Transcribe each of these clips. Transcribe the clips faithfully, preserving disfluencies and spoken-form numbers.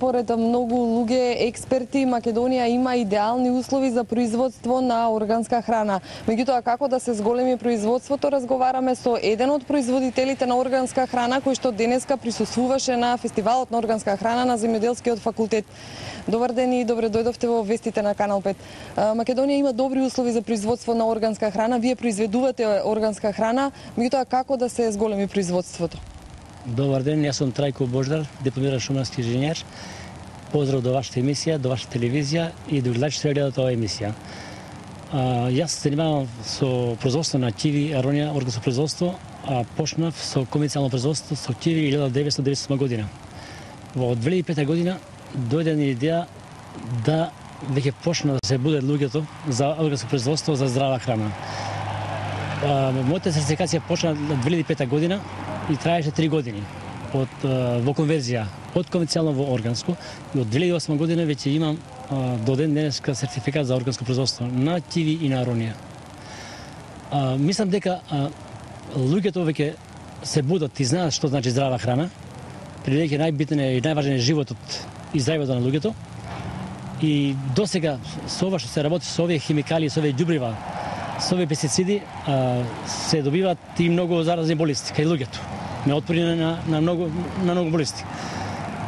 според многу луѓе експерти Македонија има идеални услови за производство на органска храна. Меѓутоа, како да се зголеми производството, разговараме со еден од производителите на органска храна кој што денеска присуствуваше на фестивалот на органска храна на Земјоделскиот факултет. Добар ден и добре дојдовте во вестите на Канал пет. Македонија има добри услови за производство на органска храна. Вие произведувате органска храна, меѓутоа како да се зголеми производството? Добар ден, јас сум Трајко Бождар, дипломиран шумарски инженер. Поздрав до вашата емисија, до вашата телевизија и до гледачите што гледат оваа емисија. А, јас се занимавам со производство на киви, аронија, органско производство, а почнав со комерцијално производство со киви илјада деветстотини деветдесет и осма година. Во две илјади и пета година дојде ни идеја да веќе почна да се будат луѓето за органско производство за здрава храна. А, мојата сертификација почна две илјади и пета година и траеше три години од, во конверзија од конвенционално во органско и од две илјади и осма година веќе имам до ден денеска сертификат за органско производство на киви и на аронија. А, мислам дека а, луѓето веќе се будат и знаат што значи здрава храна, бидејќи најбитен е и најважен е животот и здравјето на луѓето. И досега со ова што се работи со овие химикали, со овие ѓубрива, со овие пестициди а, се добиваат и многу заразни болести кај луѓето. Не отпори на, на, многу, на многу болести.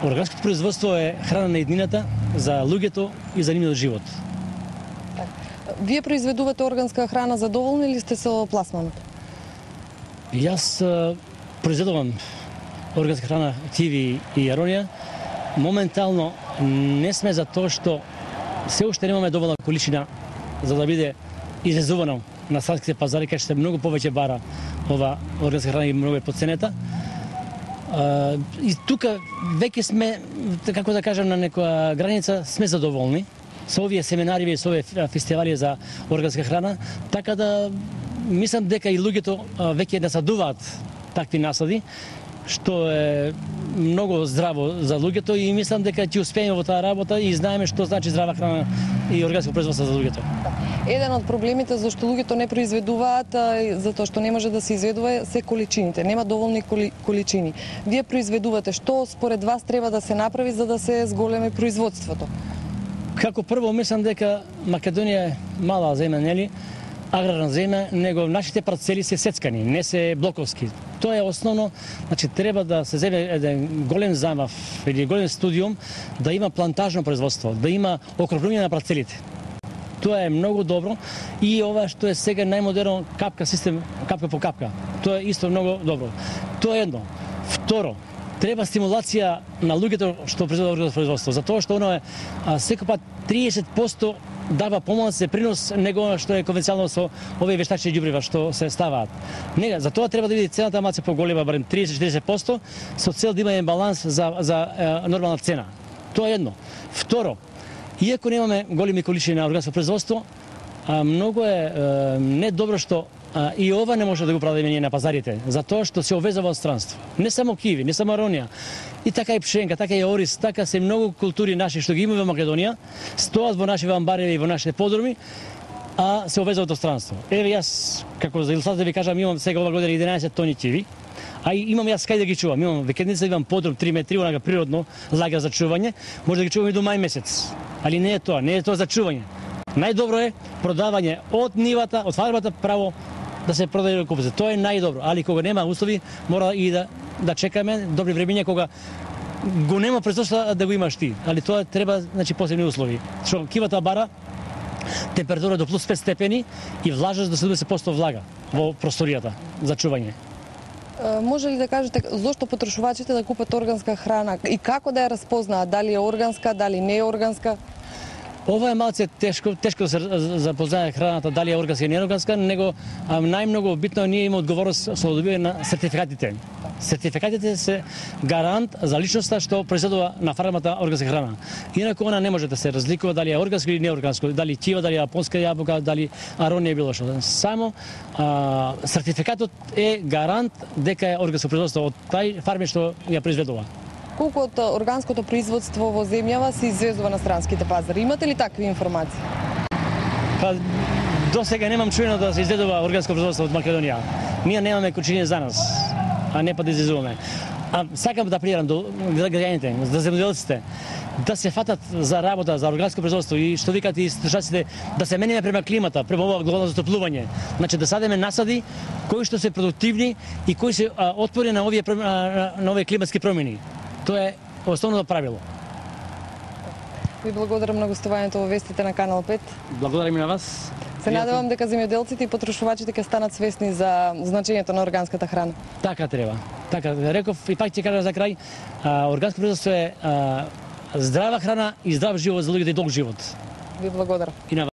Органското производство е храна на еднината за луѓето и за нивниот живот. Вие произведувате органска храна, задоволни ли сте со пласманот? Јас а, произведувам органска храна, киви и аронија. Моментално не сме за тоа што се уште немаме доволна количина за да биде извезувано на странските пазари, кај што се многу повеќе бара ова органска храна и многу е поценета. А, и тука веќе сме, како да кажам, на некоја граница сме задоволни со овие семинари, со овие фестивали за органска храна, така да мислам дека и луѓето веќе насадуваат такви насади, што е многу здраво за луѓето и мислам дека ќе успееме во таа работа и знаеме што значи здрава храна и органско производство за луѓето. Еден од проблемите зашто луѓето не произведуваат, затоа што не може да се изведува, се количините. Нема доволни коли, количини. Вие произведувате, што според вас треба да се направи за да се зголеми производството? Како прво мислам дека Македонија е мала земја, нели? Аграрна земја, него нашите парцели се сецкани, не се блоковски. Тоа е основно, значи треба да се земе еден голем замав или голем студиум, да има плантажно производство, да има окрупнување на парцелите. Тоа е многу добро и ова што е сега најмодерно капка систем, капка по капка. Тоа е исто многу добро. Тоа е едно. Второ, треба стимулација на луѓето што произведуваат производство, затоа што оно е а, секој пат триесет проценти дава помалку принос него што е конвенционално со овие вештачки ѓубрива што се ставаат. Не, за тоа треба да биде цената малку поголема, барем триесет до четиристет проценти со цел да има баланс за за е, нормална цена. Тоа е едно. Второ, иако немаме големи количини на органско производство, а, многу е, е не добро што а, и ова не може да го продадеме ние на пазарите, затоа што се овезува од странство. Не само киви, не само аронија, и така и пшенка, така и орис, така се многу култури наши што ги имаме во Македонија, стоат во наши амбареви и во нашите подруми, а се овезуваат од странство. Еве јас, како за илустрација да ви кажам, имам сега ова година единаесет тони киви, а и имам јас кај да ги чувам. Имам викендица, имам подрум три метри, онага природно лагер за чување, може да ги чувам и до мај месец. Али не е тоа, не е тоа за чување. Најдобро е продавање од нивата, од фармата право да се продаде до купците. Тоа е најдобро, али кога нема услови, мора и да да чекаме добри времиња кога го нема производство да го имаш ти. Али тоа треба, значи, посебни услови. Што кивата бара температура до плюс пет степени и влажност до седумдесет проценти влага во просторијата за чување. Може ли да кажете зошто потрошувачите да купат органска храна и како да ја разпознаат, дали е органска, дали не е органска? Ова е малце тешко, тешко да се запознае храната дали е органска или не е органска, него најмногу битно ние имаме одговорност со добивање на сертификатите. Сертификатите се гарант за личноста што произведува на фармата органска храна. Инаку она не може да се разликува дали е органско или не органско, дали кива, дали јапонска јабука, дали аронија било што. Само а, сертификатот е гарант дека е органско производство од тај фарми што ја произведува. Колку од органското производство во земјава се извезува на странските пазари? Имате ли такви информации? Па, до сега немам чуено да се изведува органско производство од Македонија. Ние немаме количини за нас, а не па да извезуваме. А сакам да апелирам до граѓаните, до земјоделците, да се фатат за работа, за органско производство и што викат и слушаците, да се мениме према климата, према ова глобално затоплување. Значи да садиме насади кои што се продуктивни и кои се а, отпорни на овие на, на овие климатски промени. Тоа е основното правило. Ви благодарам на гостувањето во вестите на Канал пет. Благодарам и на вас. Се надевам дека земјоделците и потрошувачите ќе станат свесни за значењето на органската храна. Така треба. Така реков и пак ќе кажам за крај, а, органско производство е а, здрава храна и здрав живот за луѓето и долг живот. Ви благодарам. И на